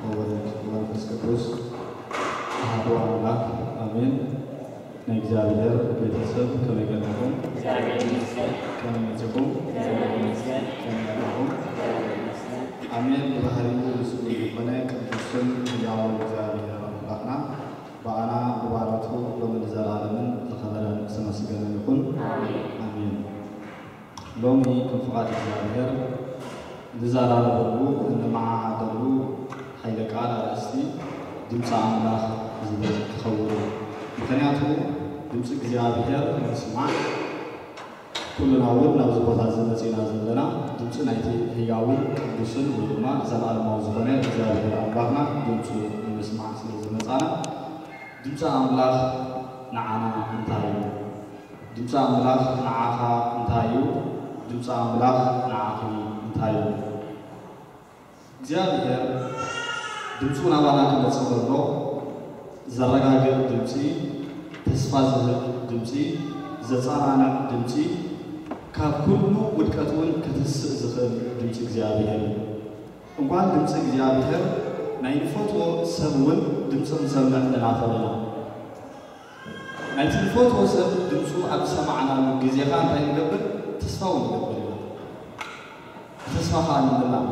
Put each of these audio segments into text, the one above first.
ወወልድ ወመንፈስ ቅዱስ ኣሐዱ ኣምላኽ ኣሜን። ናይ እግዚኣብሔር ቤተሰብ ከመይ ቀኒኹም? ከመይ መጺኹም? ከመይ ኣተኹም? ኣሜን። ብባህሪኡ ምስጉን ዝኾነ ቅዱስን ህያውን እግዚኣብሔር ኣምላኽና ብኣና ብባሮቱ ሎምን ንዘለኣለምን ዝኸበረን ዝተመስገነን ይኹን። ኣሜን። ሎሚ ከም ፍቓድ እግዚኣብሔር ንዘራረበሉ፣ እንመዓዓደሉ ሓይለ ቃል ኣርእስቲ ድምፂ ኣምላኽ ዝብል ክኸውን እዩ። ምኽንያቱ ድምፂ እግዚኣብሔር ንምስማዕ ኩልና እውን ናብዚ ቦታ እዚ መፂና ዘለና ድምፂ ናይቲ ህያውን ቅዱስን ወይ ድማ ዘለኣለማዊ ዝኾነ እግዚኣብሔር ኣምላኽና ድምፁ ንምስማዕ ስለ ዝመፃና ድምፂ ኣምላኽ ንዓና እንታይ እዩ? ድምፂ ኣምላኽ ንዓኻ እንታይ እዩ? ድምፂ ኣምላኽ ንዓኺ እንታይ እዩ? እግዚኣብሔር ድምፁ ናባና ክመፅእ ከሎ ዘረጋግእ ድምፂ፣ ተስፋ ዝህብ ድምፂ፣ ዘፀናንዕ ድምፂ፣ ካብ ኩሉ ውድቀት እውን ክትስእ ዝኽእል ድምፂ እግዚኣብሔር እዩ። እዋን ድምፂ እግዚኣብሔር ናይ ንፈትዎ ሰብ እውን ድምፂ ክንሰምዕ ንናፈቕ ኢና። ናይቲ ንፈትዎ ሰብ ድምፁ ኣብ ዝሰማዕናሉ ግዜ ኸዓ እንታይ ንገብር? ተስፋ እውን ንገብር ኢና። ብተስፋ ኸዓ ንምላእ።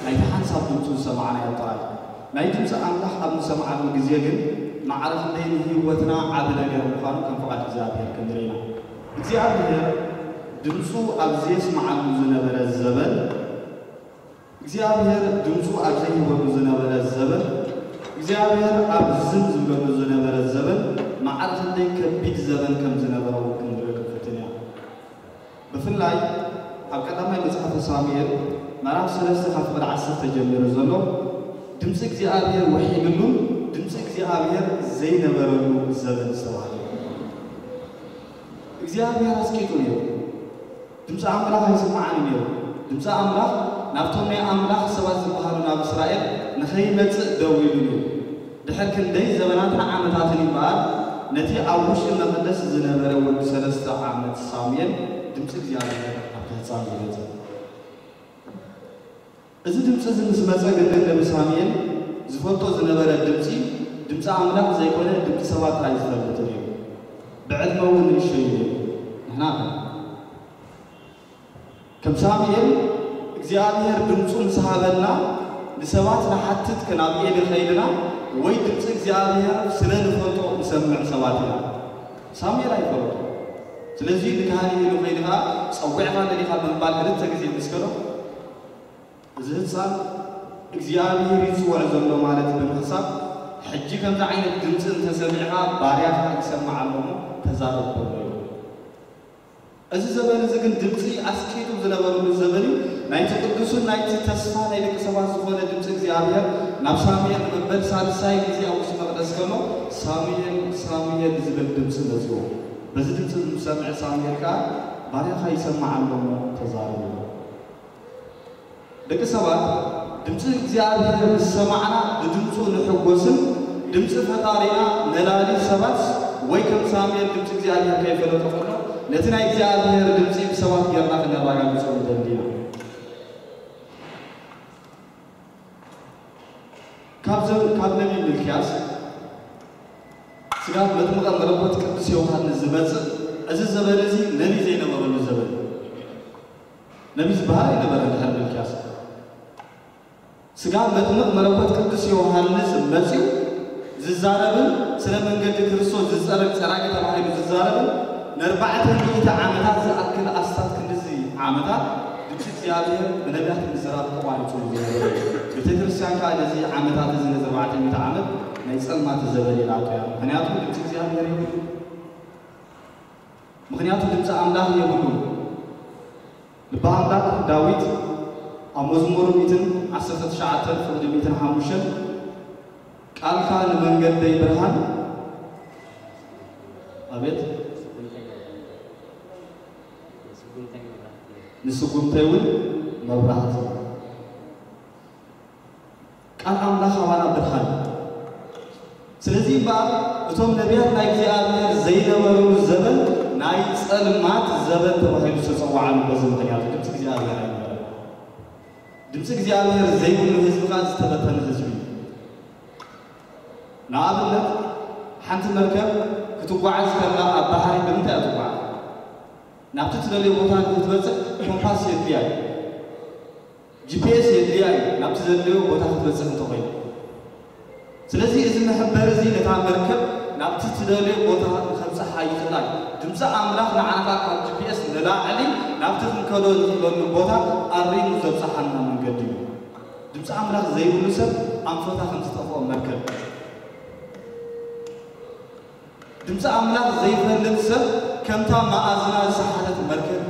ናይቲ ሓንሳብ ድምፁ ዝሰማዕናዮ ጥራይ። ናይ ድምፂ ኣምላኽ ኣብ ንሰምዓሉ ግዜ ግን ማዕረ ክንደይ ንህይወትና ዓቢ ነገር ምዃኑ ከም ፍቓድ እግዚኣብሔር ክንርኢ ኢና። እግዚኣብሔር ድምፁ ኣብ ዘየስምዓሉ ዝነበረ ዘበን እግዚኣብሔር ድምፁ ኣብ ዘይህበሉ ዝነበረ ዘበን እግዚኣብሔር ኣብ ዝም ዝብለሉ ዝነበረ ዘበን ማዕረ ክንደይ ከቢድ ዘበን ከም ዝነበረ እውን ክንርኢ ክንፍትን ኢና። ብፍላይ ኣብ ቀዳማይ መጽሓፈ ሳሙኤል ምዕራፍ ሰለስተ ካብ ፍቕዲ ዓሰርተ ጀሚሩ ዘሎ ድምፂ እግዚኣብሔር ወሒድሉን ድምፂ እግዚኣብሔር ዘይነበረሉ ዘበን ዝተባህለ እግዚኣብሔር ኣስቂጡ ነይሩ። ድምፂ ኣምላኽ ኣይስማዕን እዩ ነይሩ። ድምፂ ኣምላኽ ናብቶም ናይ ኣምላኽ ሰባት ዝበሃሉ ናብ እስራኤል ንኸይመፅእ ደው ኢሉ ነይሩ። ድሕር ክንደይ ዘበናትን ዓመታትን ይበሃል ነቲ ኣብ ውሽጢ መቕደስ ዝነበረ ወዲ ሰለስተ ዓመት ሳሙኤል ድምፂ እግዚኣብሔር ኣብቲ ህፃን ዝመፀ። እዚ ድምፂ እዚ ምስ መፀ ግን ነቢ ሳሙኤል ዝፈልጦ ዝነበረ ድምፂ ድምፂ ኣምላኽ ዘይኮነ ድምፂ ሰባት ጥራይ ዝፈልጥ ነይሩ። ብዕድመ እውን ንእሽቶ እዩ ነይሩ። ንሕና ከ ከም ሳሙኤል እግዚኣብሔር ድምፁ ምስ ሃበና ንሰባት ንሓትት ከናብ ኤሊ ኸይድና ወይ ድምፂ እግዚኣብሔር ስለ ንፈልጦ ንሰምዕ ሰባት ኢና። ሳሙኤል ኣይፈለጦ። ስለዚ ንካህን ኤሊ ኸይድኻ ጸዊዕኻ ደሊኻ ብምባል ክልተ ግዜ ምስ ከዶ እዚ ህፃን እግዚኣብሔር ይፅውዕ ዘሎ ማለት ብምሕሳብ ሕጂ ከምዚ ዓይነት ድምፂ እንተሰሚዕኻ ባርያኻ ይሰማዕ ኣሎ እሞ ተዛረብ በሎ እዩ። እዚ ዘበን እዚ ግን ድምፂ ኣስቂጡ ዝነበረሉ ዘበን እዩ። ናይቲ ቅዱስን ናይቲ ተስፋ ናይ ደቂ ሰባት ዝኾነ ድምፂ እግዚኣብሔር ናብ ሳሙኤል ንመበል ሳልሳይ ግዜ ኣብ ውሽጢ መቕደስ ከሎ ሳሙኤል ሳሙኤል ዝብል ድምፂ መፅዎ። በዚ ድምፂ ዝሰምዐ ሳሙኤል ከዓ ባርያኻ ይሰማዕ ኣሎ እሞ ተዛረብ በሎ። ደቂ ሰባት ድምፂ እግዚኣብሔር ምስ ሰማዕና ብድምፁ ንሕጎስን ድምፂ ፈጣሪና ነላሊ ሰባት ወይ ከም ሳሙኤል ድምፂ እግዚኣብሔር ከይፈለጦ ከሎ ነቲ ናይ እግዚኣብሔር ድምፂ ብሰባት ጌርና ክነረጋግፆ ንደሊ ኢና። ሚልክያስ ስጋብ መጥምቐ መለኮት ቅዱስ ዮሃንስ ዝመጽእ፣ እዚ ዘበን እዚ ነቢይ ዘይነበረሉ ዘበን እዩ። ነቢይ ዝበሃል ኣይነበረን ድሕሪ ሚልክያስ። ስጋብ መጥምቕ መለኮት ቅዱስ ዮሃንስ መጺኡ ዝዛረብን ስለ መንገዲ ክርስቶስ ዝጸረግ ጸራጊ ተባሂሉ ዝዛረብን ንኣርባዕተ ሚእቲ ዓመታት ዝኣክል ኣስታት ክንድዚ ዓመታት ድምፂ እግዚኣብሔር ብነቢያት ምዝራብ ተቋሪጹ ዝነበረ እዩ። ቤተ ክርስቲያን ከዓ ነዚ ዓመታት እዚ ነዚ ኣርባዕተ ሚእቲ ዓመት ናይ ጸልማት ዘበን ኢላቶ እያ። ምኽንያቱ ድምፂ እግዚኣብሔር የብሉ። ምኽንያቱ ድምፂ ኣምላኽ የብሉ። ልበ ኣምላኽ ዳዊት ኣብ መዝሙሩ ሚእትን ዓሰርተ ትሽዓተን ፍቕዲ ሚእትን ሓሙሽተን ቃልካ ንመንገደይ ብርሃን፣ ኣቤት፣ ንስጉምተይ እውን መብራህቲ። ቃል ኣምላኽ ኣባና ብርሃን። ስለዚ እምበኣር እቶም ነቢያት ናይ እግዚኣብሔር ዘይነበሩ ዘበን ናይ ጸልማት ዘበን ተባሂሉ ዝተጸውዓሉ በዚ ምኽንያት ድምፂ እግዚኣብሔር ኣይነበረን። ድምፂ እግዚኣብሔር ዘይብሉ ህዝቢ ከዓ ዝተበተነ ህዝቢ እዩ። ንኣብነት ሓንቲ መርከብ ክትጓዓዝ ከላ ኣብ ባሕሪ ብምንታይ እያ ትጓዓዝ? ናብቲ ትደልዮ ቦታ ንክትበፅሕ ኮምፓስ የድልያ እዩ። ጂ ፒ ኤስ የድልያ እዩ ናብቲ ዘድልዮ ቦታ ክትበፅሕ እንተኮይኑ። ስለዚ እዚ መሐበሪ እዚ ነታ መርከብ ናብቲ ትደልዮ ቦታ ንከብፅሓ ይኽእላ እዩ። ድምፂ ኣምላኽ ንዓኻ ካብ ጂ ፒ ኤስ ንላዕሊ ናብቲ ክንከዶ ንኽእለሉ ቦታ ኣሪሙ ዘብፅሓና መንገዲ እዩ። ድምፂ ኣምላኽ ዘይብሉ ሰብ ኣንፈታ ከም ዝጠፍኦ መርከብ፣ ድምፂ ኣምላኽ ዘይፈልጥ ሰብ ከምታ መኣዝና ዝሰሓተት መርከብ።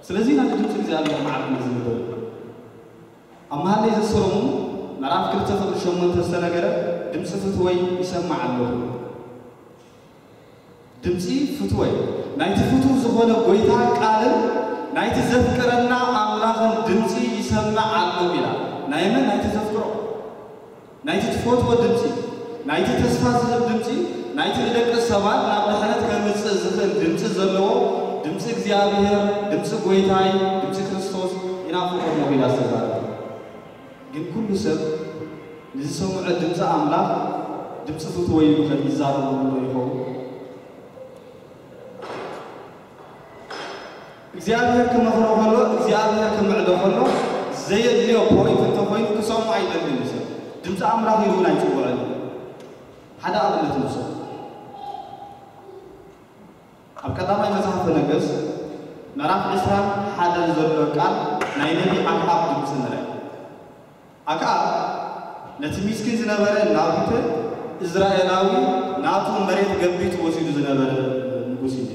ስለዚ ኢና ንድምፂ እግዚኣብሔር ማዕረ ንዝንበብ። ኣብ መሃለይ ዘሰሎሙ ምዕራፍ ክልተ ፍቕዲ ሸሞንተ ዝተነገረ ድምፂ ፍትወይ ይሰማዕ ኣለኹ። ድምፂ ፍትወይ፣ ናይቲ ፍቱው ዝኾነ ጎይታ ቃልን ናይቲ ዘፍቅረና ኣምላኽን ድምፂ ይሰምዕ ኣለኹ ኢላ። ናይ መን? ናይቲ ዘፍቅሮ፣ ናይቲ ትፈትዎ ድምፂ፣ ናይቲ ተስፋ ዝህብ ድምፂ፣ ናይቲ ንደቂ ሰባት ናብ ድሕነት ከምፅእ ዝኽእል ድምፂ ዘለዎ ድምፂ እግዚኣብሔር፣ ድምፂ ጎይታይ፣ ድምፂ ክርስቶስ ይናፍቆ ኣለኹ ኢላ ዝተዛረበ። ግን ኩሉ ሰብ ንዝሰምዖ ድምፂ ኣምላኽ ድምፂ ፍትወይ ኢሉ ከ ይዛረበሉ ዶ ይኸውን? እግዚኣብሔር ክመኽሮ ከሎ፣ እግዚኣብሔር ክምዕዶ ከሎ ዘየድልዮ ፖይንት እንተኾይኑ ክሰምዖ ኣይደልን እዩ ሰብ። ድምፂ ኣምላኽ ኢሉ እውን ኣይፅውዕን። ሓደ ኣብነት ንውሰድ። ኣብ ቀዳማይ መጽሓፈ ነገሥት ምዕራፍ ዕስራን ሓደን ዘሎ ቃል ናይ ነቢ ኣክዓብ ድምፂ ንርአ። ኣክዓብ ነቲ ሚስኪን ዝነበረ ናቡተ እዝራኤላዊ ናቱ መሬት ገቢቱ ወሲዱ ዝነበረ ንጉስ እዩ።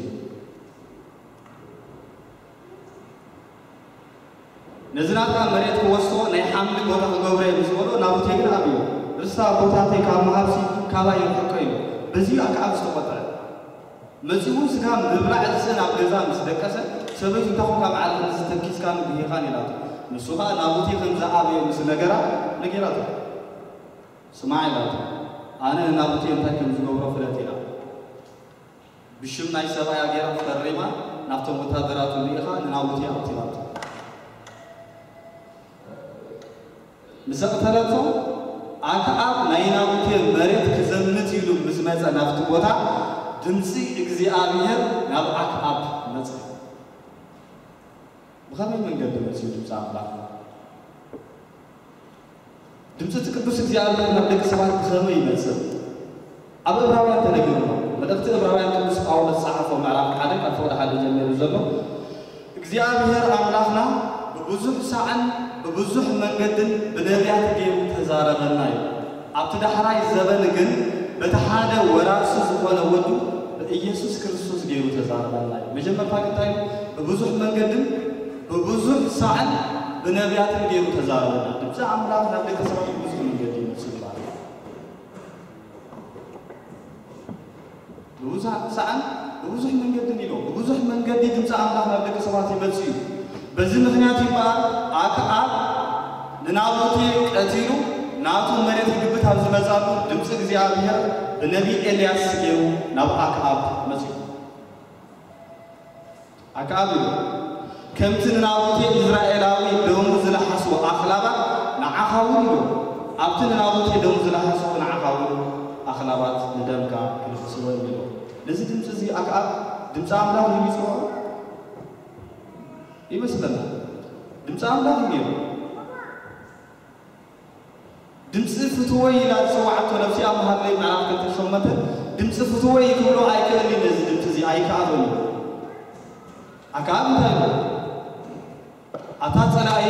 ነዚ ናትካ መሬት ክወስዶ ናይ ሓምሊ ቦታ ክገብሮ እየ ምስ በሎ ናቡቴ ግን ኣብዮ። ርስታ ቦታተይ ካብ ምሃብሲ ካባይ ይርሕቆ ኢሉ። በዚ ኣክዓብ ዝተቖጥዐ። መጺኡ እውን ስጋ ምብላዕ ዝስእን ኣብ ገዛ ምስ ደቀሰ፣ ሰበይቱ እንታኹም ካብ ዓለም እዚ ተኪስካን ጉሂኻን ኢላቶ። ንሱ ኸኣ ናቡቴ ከም ዝኣበዮ ምስ ነገራ ነጊራቶ። ስማዕ ኢላቶ፣ ኣነ ንናቡቴ እንታይ ከም ዝገብሮ ፍለጥ ኢላ። ብሽም ናይ ሰብኣያ ገይራ ፈሪማ ናብቶም ወታደራቱ ልኢኻ ንናቡቴ ኣብቲላቶ። ምስ ኣቕተለቶ ኣክዓብ ናይ ናቡቴ መሬት ክዘምት ኢሉ ምስ መጸ ናብቲ ቦታ ድምጺ እግዚኣብሔር ናብ ኣክዓብ መጸ። ብኸመይ መንገዲ መጺኡ ድምጺ ኣምላኽ? ድምጺ እቲ ቅዱስ እግዚኣብሔር ናብ ደቂ ሰባት ብኸመይ ይመጽእ? ኣብ ዕብራውያን ተነጊሩና። መልእኽቲ ዕብራውያን ቅዱስ ጳውሎስ ዝጸሓፎ ምዕራፍ ሓደ ካብ ፍቕዲ ሓደ ጀሚሩ ዘሎ እግዚኣብሔር ኣምላኽና ብብዙሕ ሳዕን ብብዙሕ መንገድን ብነቢያት ገይሩ ተዛረበና እዩ። ኣብቲ ዳሕራይ ዘበን ግን በቲ ሓደ ወራሲ ዝኾነ ወዱ ብኢየሱስ ክርስቶስ ገይሩ ተዛረበና እዩ። መጀመርታ ግን እንታይ እዩ? ብብዙሕ መንገድን ብብዙሕ ሳዕን ብነቢያትን ገይሩ ተዛረበና። ድምፂ ኣምላኽ ናብ ደቂ ሰባት ብብዙሕ መንገዲ ይመጽእ ማለት እዩ። ብብዙሕ ሳዕን ብብዙሕ መንገድን ኢሎ፣ ብብዙሕ መንገዲ ድምፂ ኣምላኽ ናብ ደቂ ሰባት ይመጽእ እዩ። በዚ ምኽንያት እዩ እምበኣር ኣክዓብ ንናቡቴ ቀቲሉ ናቱ መሬት ክግብት ኣብ ዝመጻሉ ድምፂ እግዚኣብሔር ብነቢይ ኤልያስ ገይሩ ናብ ኣክዓብ መጺኡ። ኣክዓብ ኢሉ፣ ከምቲ ንናቡቴ ኢዝራኤላዊ ደሙ ዝለሓሱ ኣኽላባት ንዓኻ እውን ኢሉ፣ ኣብቲ ንናቡቴ ደሙ ዝለሓስዎ ንዓኻ እውን ኣኽላባት ንደምካ ክልሕስዎ እዮም ኢልዎ። ነዚ ድምፂ እዚ ኣክኣብ ድምፂ ኣምላኽ እዩ ይፅውዖ ይመስለና። ድምፂ ኣምላኽ እዩ ነይሩ። ድምፂ ፍትወይ ኢላ ዝፀዋዕቶ ነብሲ ኣብ መሃለይ ምዕራፍ ክልተ ሸሞንተ ድምፂ ፍትወይ ክብሎ ኣይክእል እዩ። ነዚ ድምፂ እዚ ኣይከኣሎን እዩ። ኣክኣብ እንታይ ኢሉ? ኣታ ጸላእየ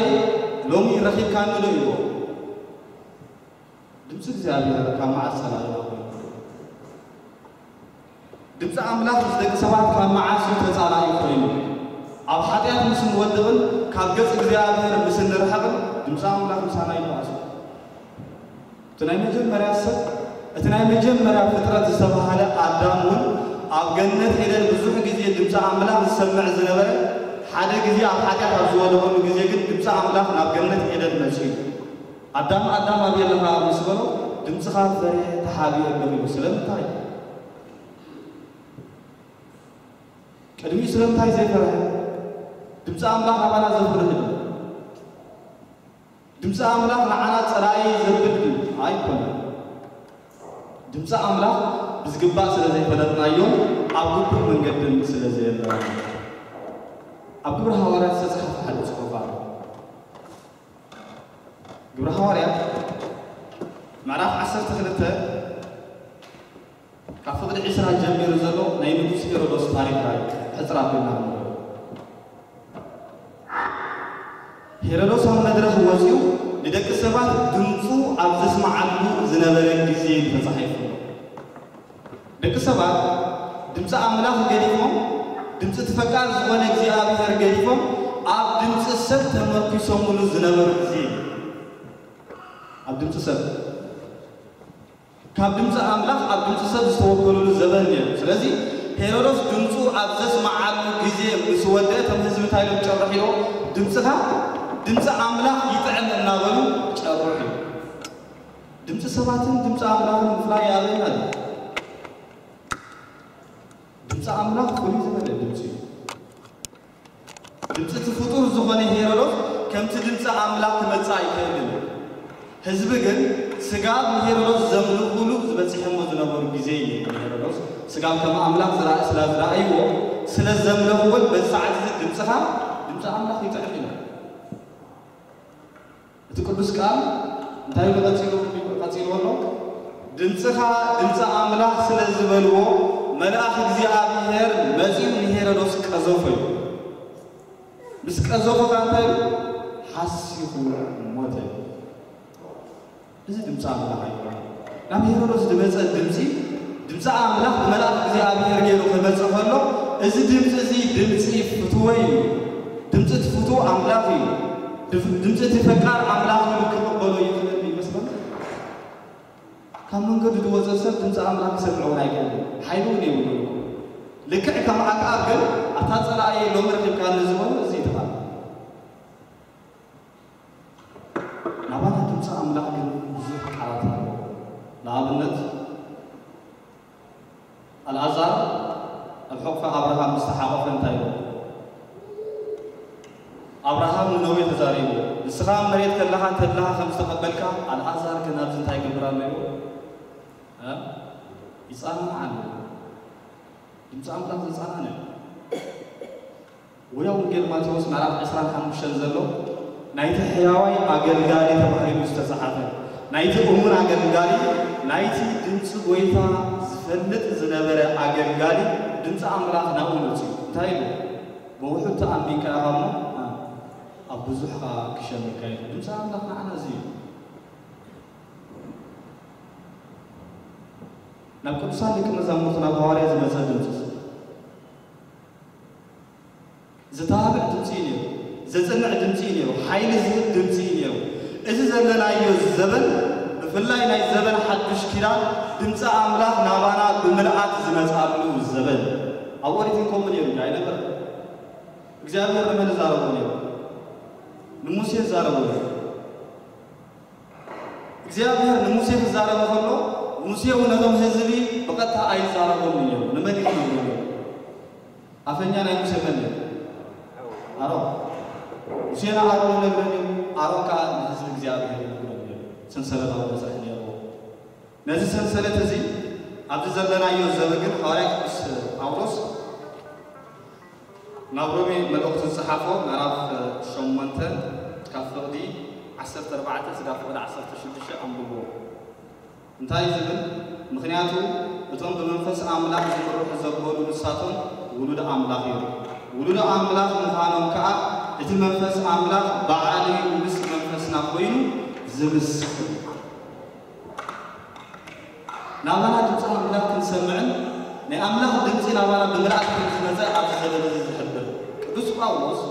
ሎሚ ረኺብካኒ ዶ ኢልዎ። ድምፂ እግዚኣብሔር ካብ መዓስ ጸላኢና ኮይኑ? ድምፂ ኣምላኽ ምስ ደቂ ሰባት ካብ መዓስ እዩ ተጻላኢ ኮይኑ? ኣብ ሓጢኣት ምስ እንወድቕን ካብ ገጽ እግዚኣብሔር ምስ እንርሕቕን ድምፂ ኣምላኽ ምሳና ይበኣስ። እቲ ናይ መጀመርያ ሰብ፣ እቲ ናይ መጀመርያ ፍጥረት ዝተባህለ ኣዳም እውን ኣብ ገነት ኤደን ብዙሕ ግዜ ድምፂ ኣምላኽ ዝሰምዕ ዝነበረ፣ ሓደ ግዜ ኣብ ሓጢኣት ኣብ ዝወደቐሉ ግዜ ግን ድምፂ ኣምላኽ ናብ ገነት ኤደን መፂኡ። ኣዳም ኣዳም ኣበይ ኣለኻ ምስ በሎ፣ ድምፅኻ ፈሪሐ ተሓቢኤ ኣለኹ ኢሉ። ስለምንታይ? ቅድሚኡ ስለምንታይ ዘይፈርሐ? ድምፂ ኣምላኽ ናባና ዘፍርህ ድዩ? ድምፂ ኣምላኽ ንዓና ፀላኢ ዘብል ድዩ? ኣይኮነን። ድምፂ ኣምላኽ ብዝግባእ ስለ ዘይፈለጥናዮን ኣብ ግቡእ መንገድን ስለ ዘየለና። ኣብ ግብሪ ሃዋርያት ዝተፅሓፈ ሓደ ፅሑፍ ኣሎ። ግብሪ ሃዋርያት ምዕራፍ ዓሰርተ ክልተ ካብ ፍቕዲ ዒስራ ጀሚሩ ዘሎ ናይ ንጉስ ሄሮዶስ ታሪኽ ራይ ሕፅር ኣቢልና ንንበብ። ሄሮዶስ ኣብ መድረኽ ወፂኡ ንደቂ ሰባት ድምፁ ኣብ ዘስምዓሉ ዝነበረ ግዜ እዩ ተፃሒፉ ኣሎ። ደቂ ሰባት ድምፂ ኣምላኽ ገዲፎም፣ ድምፂ እቲ ፈቃር ዝኾነ እግዚኣብሔር ገዲፎም፣ ኣብ ድምፂ ሰብ ተመርኪሶምሉ ዝነበሩ ግዜ እዩ። ኣብ ድምፂ ሰብ፣ ካብ ድምፂ ኣምላኽ ኣብ ድምፂ ሰብ ዝተወከሉሉ ዘበን ነይሩ። ስለዚ ሄሮዶስ ድምፁ ኣብ ዘስምዓሉ ግዜ ምስ ወደአ፣ እቶም ህዝቢ እንታይ ኢሎም ጨርሕ ኢልዎ? ድምፅኻ ድምፂ ኣምላኽ ይጥዕም እናበሉ ጨርሑ። ድምፂ ሰባትን ድምፂ ኣምላኽን ምፍላይ የኣበየና እዩ። ድምፂ ኣምላኽ ፍሉይ ዝበለ ድምፂ እዩ። ድምፂ እቲ ፍጡር ዝኾነ ሄሮዶስ ከምቲ ድምፂ ኣምላኽ ክመፅእ ኣይክእልን እዩ። ህዝቢ ግን ስጋብ ንሄሮዶስ ዘምልኹሉ ዝበፂሖሞ ዝነበሩ ግዜ እዩ። ንሄሮዶስ ስጋብ ከም ኣምላኽ ዝረኣ ስለ ዝረኣይዎ፣ ስለ ዘምለኽዎን በዚ ሰዓት እዚ ድምፅኻ ድምፂ ኣምላኽ ይጥዕም ኢሎም። እቲ ቅዱስ ቃል እንታይ ኢሉ ቀጺሉ፣ ቀጺልዎ ኣሎ? ድምፅኻ ድምፂ ኣምላኽ ስለ ዝበልዎ፣ መልኣኽ እግዚኣብሔር መጺኡ ንሄሮዶስ ቀዘፎ እዩ። ምስ ቀዘፎ ከኣ እንታይ ኢሉ? ሓሲኹ ሞተ። እዚ ድምፂ ኣምላኽ ኣይኮነን። ናብ ሄሮዶስ ዝመፀ ድምፂ፣ ድምፂ ኣምላኽ ብመልኣኽ እግዚኣብሔር ገይሩ ክመፅእ ከሎ፣ እዚ ድምፂ እዚ ድምፂ ፍትወይ እዩ። ድምፂ እቲ ፍትው ኣምላኽ እዩ። ድፍ-፣ ድምፂ እቲ ፈቃር ኣምላኽ እዩ ክቕበሎ ይኽእል ይመስለኒ። ካብ መንገዱ ዝወፀ ሰብ ድምፂ ኣምላኽ ክሰምዕ እውን ኣይክእልን። ሓይሊ እውን የብሉን። ልክዕ ከም ኣክኣብ ግን፣ ኣታ ፀላእየ ሎሚ ረኺብካኒ ዝበሎ እዚ እዩ ተባለ። ናባና ድምፂ ኣምላኽ ግን ብዙሕ ቃላት ኣለዎ። ንኣብነት፣ ኣልኣዛር ኣብ ሕቑፊ ኣብርሃም ምስ ተሓቖፈ እንታይ ኢሉ? ኣብርሃም ንነዌ ተዛሪቡ፣ "ንስኻ ኣብ መሬት ከለኻ ተድላኻ ከም ዝተቐበልካ፣ ኣልኣዛር ግን ኣብዚ እንታይ ይገብር ኣሎ?" ኢሉ፣ እ? ይጻናናዕ ኣሎ። ድምፂ ኣምላኽ ዘጻናንዕ። ወይ ወንጌል ማቴዎስ ምዕራፍ ዕስራን ሓሙሽተን ዘሎ ናይቲ ሕያዋይ ኣገልጋሊ ተባሂሉ ዝተጻሓፈ፣ ናይቲ እሙን ኣገልጋሊ፣ ናይቲ ድምፂ ጐይታ ዝፈልጥ ዝነበረ ኣገልጋሊ ድምፂ ኣምላኽ ናብኡ መፂኡ። እንታይ ኢሉ? "ብውሑድ ተኣሚንካ ኢኻ እሞ፣ ኣብ ብዙሕ ኸዓ ክሸምካ" ኢሉ። ድምፂ ኣምላኽ ንዓና እዚ እዩ። ናብ ቅዱሳን ደቂ መዛሙርቱ፣ ናብ ሃዋርያ ዝመፀ ድምፂ፣ ዝተባብዕ ድምፂ እዩ ነይሩ። ዘፅንዕ ድምፂ እዩ ነይሩ። ሓይሊ ዝህብ ድምፂ እዩ ነይሩ። እዚ ዘለናዮ ዘበን፣ ብፍላይ ናይ ዘበን ሓዱሽ ኪዳን፣ ድምፂ ኣምላኽ ናባና ብምልኣት ዝመፅኣሉ ዘበን። ኣብ ኦሪት እውን ከምኡ ነይሩ እዩ ኣይነበረን? እግዚኣብሔር ንመን ይዛረቦ ነይሩ? ንሙሴ ይዛረቦ ነይሩ። እግዚኣብሔር ንሙሴ ክዛረብ ከሎ፣ ሙሴ እውን ነቶም ህዝቢ ብቐጥታ ኣይዛረቦም እዩ ነይሩ። ንመን እዩ ዝነግሮ ነይሩ? ኣፈኛ ናይ ሙሴ መን እዩ? ኣሮን። ሙሴ ንኣሮን ይነግሮ ነይሩ፣ ኣሮን ከዓ ንህዝቢ እግዚኣብሔር ይነግሮ ነይሩ። ሰንሰለታዊ መስርሕ ነይርዎ። ነዚ ሰንሰለት እዚ ኣብዚ ዘለናዮ ዘበግን ሃዋርያ ቅዱስ ጳውሎስ ናብ ሮሜ መልእኽቱ ዝጸሓፎ ምዕራፍ ሸሞንተ ካብ ፍቕዲ ዓሰርተ ኣርባዕተ ስጋብ ፍቕዲ ዓሰርተ ሽዱሽተ ኣንብብዎ። እንታይ ዝብል? ምኽንያቱ እቶም ብመንፈስ ኣምላኽ ዝምርሑ ዘበሉ ንሳቶም ውሉድ ኣምላኽ እዮም። ውሉድ ኣምላኽ ምዃኖም ከኣ እቲ መንፈስ ኣምላኽ ባዕሉ ምስ መንፈስና ኮይኑ ዝምስክር። ናባና ድምፂ ኣምላኽ ክንሰምዕን ናይ ኣምላኽ ድምፂ ናባና ብምልኣት ከም ዝመፀ ኣብዚ ዘበን እዚ ዝሕብር ቅዱስ ጳውሎስ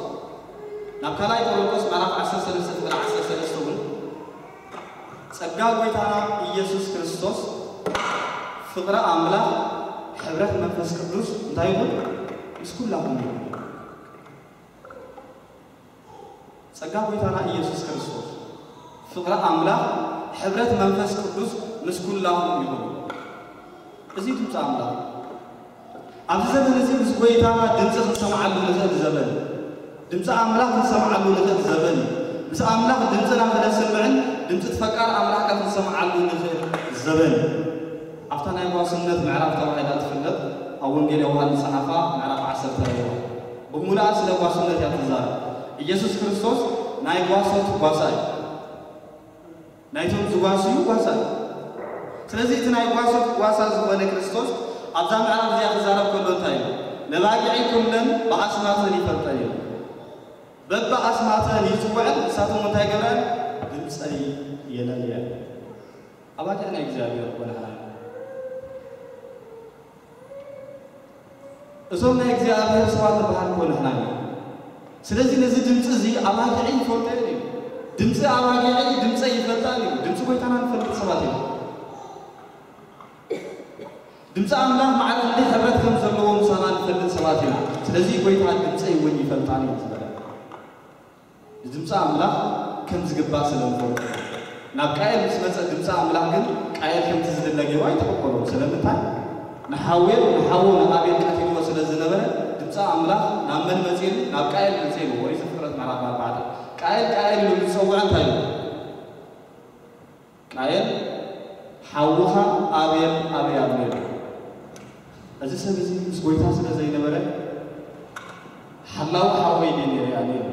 ናብ ካልኣይ ቆሮንቶስ ምዕራፍ ዓሰርተ ሰለስተ ፍቕዲ ዓሰርተ ሰለስተ እውን ጸጋ ጐይታና ኢየሱስ ክርስቶስ፣ ፍቕሪ ኣምላኽ፣ ሕብረት መንፈስ ቅዱስ እንታይ ይኹን? ምስ ኩላኹም ይኹን። ጸጋ ጐይታና ኢየሱስ ክርስቶስ፣ ፍቕሪ ኣምላኽ፣ ሕብረት መንፈስ ቅዱስ ምስ ኩላኹም ይኹን። እዚ ድምፂ ኣምላኽ ኣብዚ ዘበን እዚ ምስ ጐይታና ድምፂ ክንሰምዓሉ ንኽእል ዘበን፣ ድምፂ ኣምላኽ ክንሰምዓሉ ንኽእል ዘበን፣ ምስ ኣምላኽ ድምፅና ክነስምዕን ድምፂ እቲ ፈቃር ኣምላኽካ ክንሰምዓሉ ንኽእል ዘበን። ኣብታ ናይ ጓስነት ምዕራፍ ተባሂላ ትፍለጥ ኣብ ወንጌል ዮሃንስ ዝጸሓፋ ምዕራፍ ዓሰርተ ኣለዋ። ብምሉኣ ስለ ጓስነት እያ ትዛረብ። ኢየሱስ ክርስቶስ ናይ ጓሶት ጓሳ እዩ። ናይቶም ዝጓስዩ ጓሳ እዩ። ስለዚ እቲ ናይ ጓሶት ጓሳ ዝኾነ ክርስቶስ ኣብዛ ምዕራፍ እዚኣ ክዛረብ ከሎ እንታይ እዩ? ነባጊዐይ ኩለን ብኣስማተን ይፈልጠን እዩ። በብኣስማተን ይጽውዐን፣ ንሳቶም እንታይ ገብረን? ድምፀይ የለልየን። ኣባጊዕ ናይ እግዚኣብሔር እኮ ንሕና ኢና። እዞም ናይ እግዚኣብሔር ሰባት ንበሃል እኮ ንሕና ኢና። ስለዚ ነዚ ድምፂ እዚ ኣባጊዐይ ይፈልጠን እዩ። ድምፂ ኣባጊዐይ ድምፀይ ይፈልጣን እዩ። ድምፂ ጐይታና ንፈልጥ ሰባት ኢና። ድምፂ ኣምላኽ ማዕረ ክንደይ ሕብረት ከም ዘለዎ ምሳና ንፈልጥ ሰባት ኢና። ስለዚ ጐይታ ድምፀይ እውን ይፈልጣን እዩ ዝበለ። ንድምፂ ኣምላኽ ከም ዝግባእ ስለ ንፈልጦ። ናብ ቃየል ምስ መፀ ድምፂ ኣምላኽ ግን ቃየል ከምቲ ዝድለ ገይሩ ኣይተቐበሎን። ስለምንታይ? ንሓዌል ንሓዎ ንኣቤል ቀቲልዎ ስለ ዝነበረ ድምፂ ኣምላኽ ናብ መን መፅኤሉ? ናብ ቃየል መፅኤሉ። ኦሪት ዘፍጥረት ምዕራፍ ኣርባዕተ። ቃየል ቃየል ኢሉ ምስ ጸውዐ እንታይ ኢሉ? ቃየል ሓውኻ ኣቤል ኣበይ ኣሎ ኢሉ። እዚ ሰብ እዚ ምስ ጐይታ ስለ ዘይነበረ ሓላዊ ሓወይ ድየ ነይረ ኢሉ።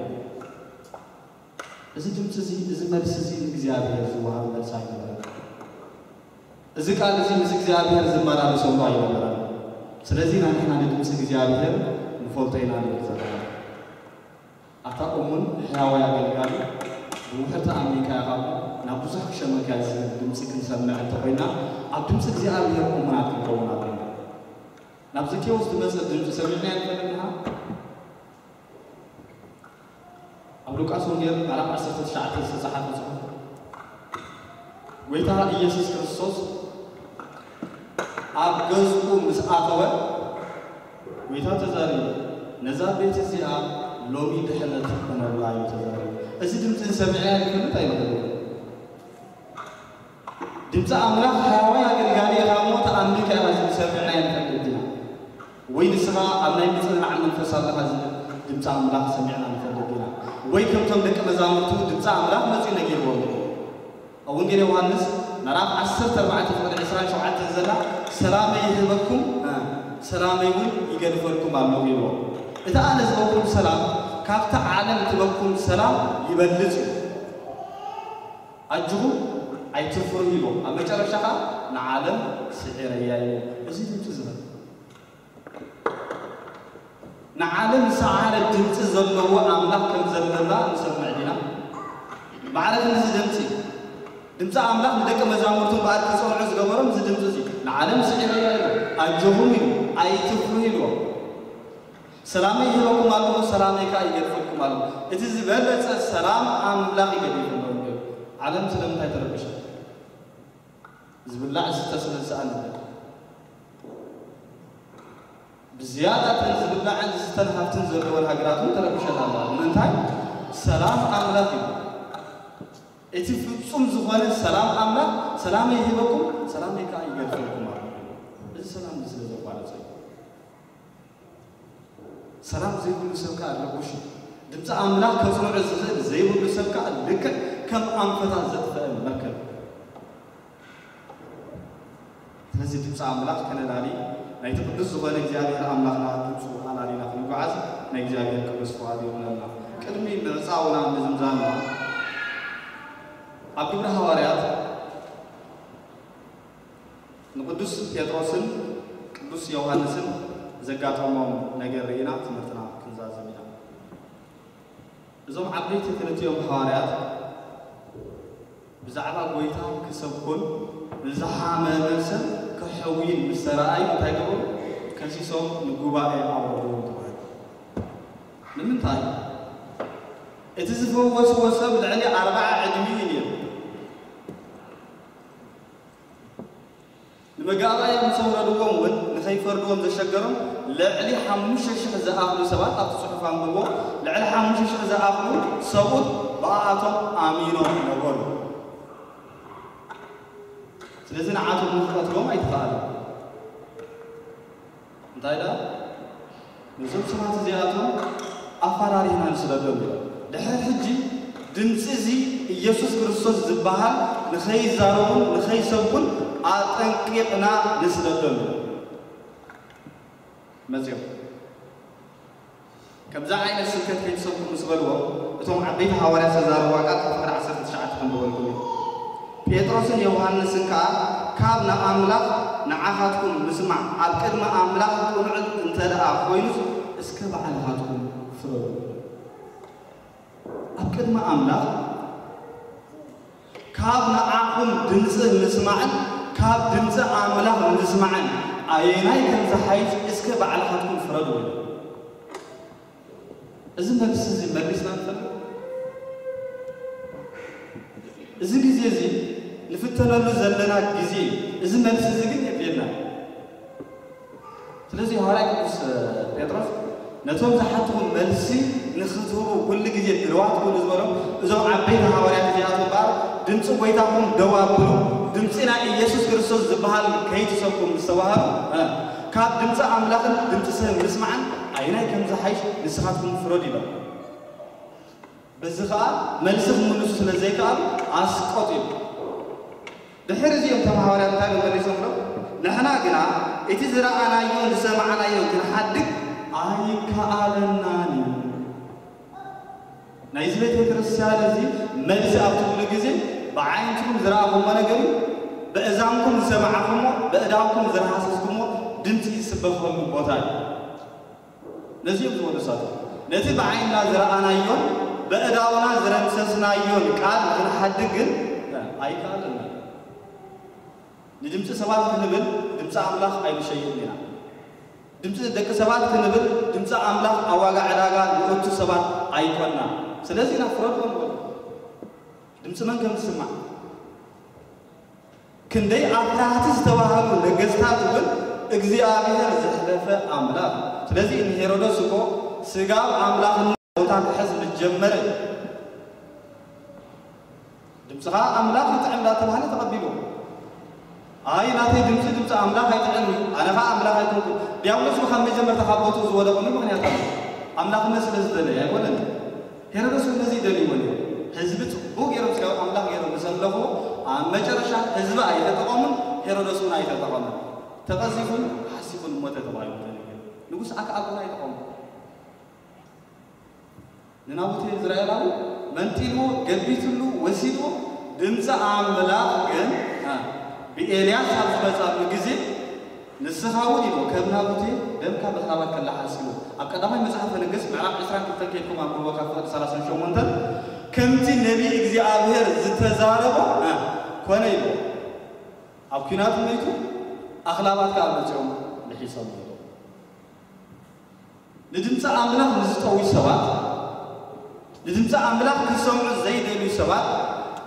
እዚ ድምፂ እዚ፣ እዚ መልሲ እዚ ንእግዚኣብሔር ዝወሃብ መልሲ ኣይነበረን። እዚ ቃል እዚ ምስ እግዚኣብሔር ዝመላለሰሉ ኣይነበረን። ስለዚ ኢና ንሕና ንድምፂ እግዚኣብሔር ንፈልጦ ኢና ንብል ዘለና። ኣታ እሙን ሕያዋይ ኣገልጋሊ፣ ብውሑድ ተኣሚንካ ኢኻ እሞ ናብ ብዙሕ ክሸመካ ዝብል ድምፂ ክንሰምዕ እንተኾይና፣ ኣብ ድምፂ እግዚኣብሔር እሙናት ክንከውን ኣለና። ናብ ዘኬዎስ ዝመፀ ድምፂ ሰሚዕናዮ ንፈልጥ ንሓ? ኣብ ሉቃስ ወንጌል ምዕራፍ ዓሰርተ ትሽዓተ ዝተጻሓፈ ጽሑፍ፣ ጐይታ ኢየሱስ ክርስቶስ ኣብ ገዝኡ ምስ ኣተወ፣ ጐይታ ተዛሪቡ፣ "ነዛ ቤት እዚኣ ሎሚ ድሕነት ክኾነላ" እዩ ተዛሪቡ። እዚ ድምጺ እዚ ሰሚዐ ይፈልጥ ኣይፈልጥን? ድምፂ ኣምላኽ ሕያዋይ ኣገልጋሊ ኢኻ እሞ ተኣሚንካ ኢኻ ዝብል ሰሚዕና ኣይንፈልጥን ኢና። ወይ ንስኻ ኣብ ናይ ምጽንናዕ መንፈስ ኣለኻ ዝብል ድምፂ ኣምላኽ ሰሚዕና ንፈልጥ ኢና። ወይ ከምቶም ደቂ መዛሙርቱ ድምፂ ኣምላኽ መፂኡ ነጊርዎም እዩ። ኣብ ወንጌል ዮሃንስ ምዕራፍ ዓሰርተ ኣርባዕተ ፍቕዲ ዕስራን ሸውዓተን ዘላ፣ "ሰላመይ ይህበኩም፣ እ፣ ሰላመይ እውን ይገድፈልኩም ኣለኹ" ኢልዎ። እቲ ኣነ ዝህበኩም ሰላም ካብቲ ዓለም ትበኩም ሰላም ይበልጽ እዩ። ኣጆኹም፣ ኣይትፍርሁ ኢልዎ። ኣብ መጨረሻ ኸኣ ንዓለም ስዒረያ ኢልዎ። እዚ ድምፂ ዝህብ ንዓለም ዝሰዓረ ድምፂ ዘለዎ ኣምላኽ ከም ዘለና ንሰምዕ ዲና? ማዕረ ክንድዚ ድምፂ፣ ድምፂ ኣምላኽ ንደቂ መዛሙርቱ እምበኣር ክፀንዑ ዝገበሮም እዚ ድምፂ እዚ፣ "ንዓለም ስዒረያ ኢልዎ፣ ኣጆኹም" ኢሉ፣ "ኣይትፍርሁ" ኢልዎ። "ሰላመይ ይህበኩም ኣለኹ፣ ሰላመይ ከኣ ይገድፈልኩም ኣለኹ። እቲ ዝበለጸ ሰላም ኣምላኽ ይገድፈልኩም ኣለኹ" እዩ። ዓለም ስለምንታይ ተረቢሻ? ዝብላዕ ዝስተ ስለ ዝሰኣነ። ብዝያዳ እተን ዝብላዕን ዝስተን ሃብትን ዘለወን ሃገራት እውን ተረቢሸን ኣለዋ። ንምንታይ? ሰላም ኣምላኽ እዩ። እቲ ፍጹም ዝኾነ ሰላም ኣምላኽ፣ "ሰላመይ ይህበኩም፣ ሰላመይ ከኣ ይገድፈልኩም" ኣሎ። እዚ ሰላም እዚ ስለ ዘቋረጸ እዩ። ሰላም ዘይብሉ ሰብ ከኣ ረቡሽ እዩ። ድምፂ ኣምላኽ ከጽንዖ ዝኽእል ዘይብሉ ሰብ ከኣ ልክዕ ከም ኣንፈታ ዘጥፈአ መርከብ። ነዚ ድምፂ ኣምላኽ ከነላሊ ናይቲ ቅዱስ ዝኾነ እግዚኣብሔር ኣምላኽና ድምፁ ኣላሊና ክንጓዓዝ ናይ እግዚኣብሔር ቅዱስ ፍቓድ ይኹነልና። ቅድሚ ምዕፃውና ምዝምዛምና ኣብ ግብረ ሃዋርያት ንቅዱስ ጴጥሮስን ቅዱስ ዮሃንስን ዘጋጠሞም ነገር ርኢና ትምህርትና ክንዛዝም ኢና። እዞም ዓበይቲ ክልቲኦም ሃዋርያት ብዛዕባ ጎይታ ክሰብኩን ንዝሓመመ ሰብ ክሕውይን ምስ ተረኣዩ እንታይ ገበሩ? ከሲሶም ንጉባኤ ኣውረድዎም ተባሂሉ። ንምንታይ? እቲ ዝፈወስዎ ሰብ ልዕሊ ኣርብዓ ዕድሚኡ እዩ ነይሩ። ንመጋባእያ ምስ ኣውረድዎም እውን ንኸይፈርድዎም ዘሸገሮም ልዕሊ ሓሙሽተ ሽሕ ዝኣኽሉ ሰባት ኣብቲ ጽሑፍ ኣንብቦ፣ ልዕሊ ሓሙሽተ ሽሕ ዝኣኽሉ ሰብኡት ብኣኣቶም ኣሚኖም ነበሩ። ስለዚ ንዓቶም ንኽቐትሎም ኣይተኻእለን። እንታይ ደኣ? ነዞም ሰባት እዚኣቶም ኣፈራሪህና ንስደዶም ኢሎም። ድሕሪ ሕጂ ድምፂ እዚ ኢየሱስ ክርስቶስ ዝበሃል ንኸይዛረቡን ንኸይሰብኩን ኣጠንቂቕና ንስደዶም ኢሎም። መፂኦም ከምዚ ዓይነት ስብከት ከይትሰብኩ ምስ በልዎም፣ እቶም ዓበይቲ ሃዋርያት ዝተዛረብዋ ቃል ካብ ፍቕዲ ዓሰርተ ትሽዓተ ከም ዝበልኩም እዩ። ጴጥሮስን ዮሃንስን ከኣ ካብ ንኣምላኽ ንዓኻትኩም ምስማዕ ኣብ ቅድሚ ኣምላኽ ቅኑዕ እንተ ደኣ ኮይኑስ እስከ ባዕልኻትኩም ፍረዱ። ኣብ ቅድሚ ኣምላኽ ካብ ንዓኹም ድምፂ ምስማዕን ካብ ድምፂ ኣምላኽ ምስማዕን ኣየናይ ከም ዝሓይሽ እስከ ባዕልኻትኩም ፍረዱ። እዚ መልሲ እዚ መሊስና ንፈልጥ? እዚ ግዜ እዚ ንፍተነሉ ዘለና ግዜ እዩ። እዚ መልሲ እዚ ግን የድልየና። ስለዚ ሃዋርያ ቅዱስ ጴጥሮስ ነቶም ዝሓትኹም መልሲ ንኽትህቡ ኩሉ ግዜ ድልዋት ኩኑ ዝበሎም እዞም ዓበይቲ ሃዋርያት እዚኣቶም እምበኣር ድምፂ ጎይታኹም ደው ኣብሉ፣ ድምፂ ናይ ኢየሱስ ክርስቶስ ዝበሃል ከይትሰብኩም ምስ ተባሃሉ፣ እ፣ ካብ ድምፂ ኣምላኽን ድምፂ ሰብ ምስማዕን ኣየናይ ከም ዝሓይሽ ንስኻትኩም ፍረዱ ኢሎም። በዚ ኸኣ መልሲ ክምልሱ ስለ ዘይከኣሉ ኣስቆጢሉ። ድሕሪ እዚኦም እቶም ሃዋርያት እንታይ ኢሎም መሊሶም ኢሎም? ንሕና ግና እቲ ዝረኣናዮን ዝሰማዕናዮን ክንሓድግ ኣይከኣለናን እዩ። ናይዚ ቤተ ክርስቲያን እዚ መልሲ ኣብ ትብሉ ግዜ ብዓይንትኩም ዝረኣኹሞ ነገር እዩ፣ በእዛንኩም ዝሰማዕኹሞ፣ በእዳውኩም ዝረሃሰስኩሞ ድምፂ ዝስበኸሉ ቦታ እዩ። ነዚ እዮም ዝበሉ ንሳቶም። ነቲ ብዓይንና ዝረኣናዮን በእዳውና ዝረምሰስናዮን ቃል ክንሓድግ ግን ኣይከኣለና። ንድምፂ ሰባት ክንብል ድምፂ ኣምላኽ ኣይንሸይጥን ኢና። ድምፂ ደቂ ሰባት ክንብል ድምፂ ኣምላኽ ኣብ ዋጋ ዕዳጋ ንእቱ ሰባት ኣይኮንና። ስለዚ ኢና ፍረድዎ ንበሎ። ድምፂ መን ከም ዝስማዕ ክንደይ ኣፍራህቲ ዝተባህሉ ነገስታት እውን እግዚኣብሔር ዘሕለፈ ኣምላኽ። ስለዚ ንሄሮዶስ እኮ ስጋብ ኣምላኽነት ቦታ ክሕዝ ምስ ጀመረ ድምፅኻ ኣምላኽ ይጥዕም እንዳተባህለ ተቐቢሉ። ኣይ ናተይ ድምፂ ድምፂ ኣምላኽ ኣይጥዕም እዩ፣ ኣነ ኸዓ ኣምላኽ ኣይኮንኩ። ዲያብሎስ ካብ መጀመርታ ካብ ቦትኡ ዝወደቐሉ ምኽንያት ኣሎ። ኣምላኽነት ስለ ዝደለየ ኣይኮነን። ሄሮዶስ እውን ነዚ ይደልይዎ ነይሩ። ህዝቢ ጽቡቕ ገይሮም ስጋዊ ኣምላኽ ገይሮም ምስ ኣምለኽዎ፣ ኣብ መጨረሻ ህዝቢ ኣይተጠቐሙን፣ ሄሮዶስ እውን ኣይተጠቐመን። ተቐዚፉን ሓሲኹን ሞተ ተባሂሉ ተነገረ። ንጉስ ኣክዓብ እውን ኣይጠቐሙን። ንናቡቴ ኢዝራኤላዊ መንጢልዎ፣ ገቢትሉ፣ ወሲድዎ። ድምፂ ኣምላኽ ግን፣ እ፣ ብኤልያስ ኣብ ዝመጻሉ ግዜ ንስኻ እውን ኢሉ ከም ናቡቴ ደምካ ብኽራባት ከላሓስ ኢሉ። ኣብ ቀዳማይ መጽሓፈ ነገስት ምዕራፍ ዕስራን ክልተን ከይድኩም ኣንብብዎ ካብ ፍቕዲ ሰላሳን ሸሞንተን ከምቲ ነቢይ እግዚኣብሔር ዝተዛረቦ፣ እ፣ ኮነ ኢሉ። ኣብ ኲናት መይቱ ኣኽላባት ከኣ መጺኦም ልሒሶም ኢሉ። ንድምፂ ኣምላኽ ንዝጠውዩ ሰባት፣ ንድምፂ ኣምላኽ ክሰምዑ ዘይደልዩ ሰባት፣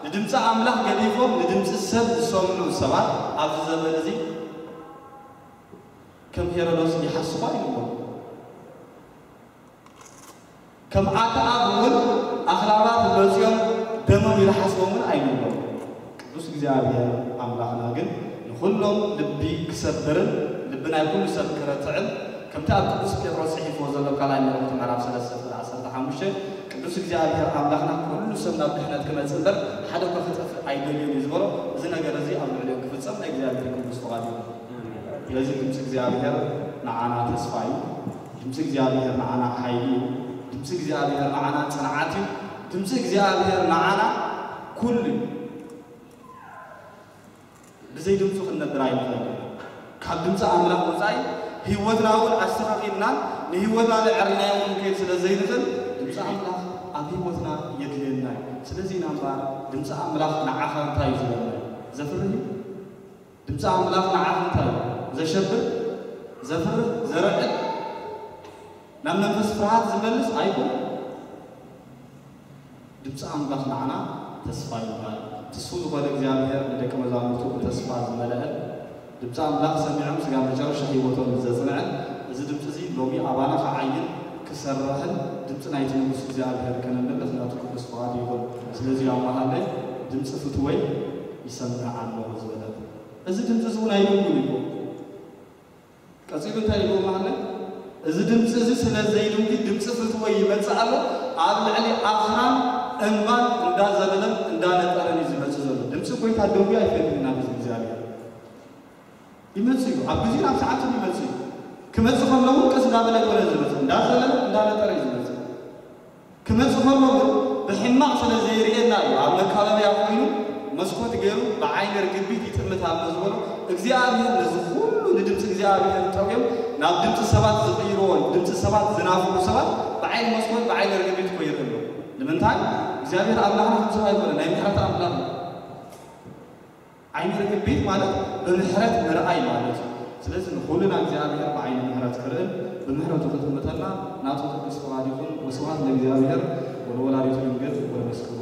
ንድምፂ ኣምላኽ ገዲፎም ንድምፂ ሰብ ዝሰምዑ ሰባት ኣብዚ ዘመን እዚ ከም ሄሮዶስ ይሓስቡ ኣይንብሎም። ከም ኣክኣብ እውን ኣኽላባት መፂኦም ደሞም ይልሓስቦም እውን ኣይንብሎም። ቅዱስ እግዚኣብሔር ኣምላኽና ግን ንኹሎም ልቢ ክሰብርን ልቢ ናይ ኩሉ ሰብ ክረትዕን ከምቲ ኣብ ቅዱስ ጴጥሮስ ጽሒፍዎ ዘሎ ካልኣይ መልእኽቱ ምዕራፍ ሰለስተ ፍቕዲ ዓሰርተ ሓሙሽተ ቅዱስ እግዚኣብሔር ኣምላኽና ኩሉ ሰብ ናብ ድሕነት ክመጽእ እምበር ሓደ እኳ ክጠፍእ ኣይደልዮን እዩ ዝበሎ። እዚ ነገር እዚ ኣብ ልዕሊኦም ክፍጸም ናይ እግዚኣብሔር ቅዱስ ፍቓድ እዩ። ስለዚ ድምፂ እግዚኣብሔር ንዓና ተስፋ እዩ። ድምፂ እግዚኣብሔር ንዓና ሓይሊ እዩ። ድምፂ እግዚኣብሔር ንዓና ፅንዓት እዩ። ድምፂ እግዚኣብሔር ንዓና ኩሉ እዩ። ብዘይ ድምፁ ክንነብር ኣይንኽእል ኢና። ካብ ድምፂ ኣምላኽ ወፃኢ ህይወትና እውን ኣስተኻኺልናን ንህይወትና ንዕሪናዮ ክንከይድ ስለ ዘይንኽእል ድምፂ ኣምላኽ ኣብ ህይወትና የድልየና እዩ። ስለዚ ኢና እምበኣር ድምፂ ኣምላኽ ንዓኻ እንታይ እዩ ዝበልና እዩ? ዘፍርህ እዩ? ድምፂ ኣምላኽ ንዓኻ እንታይ እዩ? ዘሸብር፣ ዘፍርህ፣ ዘርዕድ፣ ናብ መንፈስ ፍርሃት ዝመልስ ኣይኮነን። ድምፂ ኣምላኽ ንዓና ተስፋ ይበሃል። ትስፉው ዝኾነ እግዚኣብሔር ንደቂ መዛሙርቱ ብተስፋ ዝመልአን ድምፂ ኣምላኽ ሰሚዖም ስጋብ መጨረሻ ህይወቶም ዘፅንዐን እዚ ድምፂ እዚ ሎሚ ኣባና ክዓይን ክሰርሕን ድምፂ ናይቲ ንጉስ እግዚኣብሔር ከነምልኽ ናቱ ቅዱስ ፍቓዱ ይኹን። ስለዚ ኣብ መሃለይ ድምፂ ፍትወይ ይሰምዕ ኣለኹ ዝበለ። እዚ ድምፂ እዚ እውን ኣይድንጉን እዩ። ቀጺሉ እንታይ ኢልዎ ማለት? እዚ ድምፂ እዚ ስለ ዘይድንጉ ድምፂ ፍትወይ ይመፅእ ኣሎ፣ ኣብ ልዕሊ ኣኽራን እምባን እንዳዘለለን እንዳነጠረን እዩ ዝመፅእ ዘሎ። ድምፂ ጎይታ ደንጉዩ ኣይፈልጥን ኢና ህዝቢ እግዚኣብሔር። ይመፅእ እዩ፣ ኣብ ግዜን ኣብ ሰዓትን ይመፅእ እዩ። ክመፅእ ከሎ እውን ቀስ እንዳበለ ኣይኮነን ዝመፅእ፣ እንዳዘለለ እንዳነጠረ እዩ ዝመፅእ። ክመፅእ ከሎ ግን ብሕማቕ ስለ ዘይርእየና እዩ ኣብ መካበብያ ኮይኑ መስኮት ገይሩ ብዓይኒ ርግቢት ይጥምት ኣሎ ዝበሎ። እግዚኣብሔር ነዚ ኩሉ ንድምፂ እግዚኣብሔር ጠውዮም ናብ ድምፂ ሰባት ዝቕይርዎ፣ ድምፂ ሰባት ዝናፍቑ ሰባት ብዓይኒ መስኮት ብዓይኒ ርግቢት እኮ ይርኢ ኣሎ። ንምንታይ? እግዚኣብሔር ኣምላኽና ከምዚ ኣይኮነ፣ ናይ ምሕረት ኣምላኽ እዩ። ዓይኒ ርግቢት ማለት ብምሕረት ምርኣይ ማለት እዩ። ስለዚ ንኹልና እግዚኣብሔር ብዓይኒ ምሕረት ክርእን ብምሕረቱ ክጥምተና ናቱ ቅዱስ ፍቓድ ይኹን። ወስብሐት ለእግዚኣብሔር ወለወላዲቱ ድንግል ወለመስቀሉ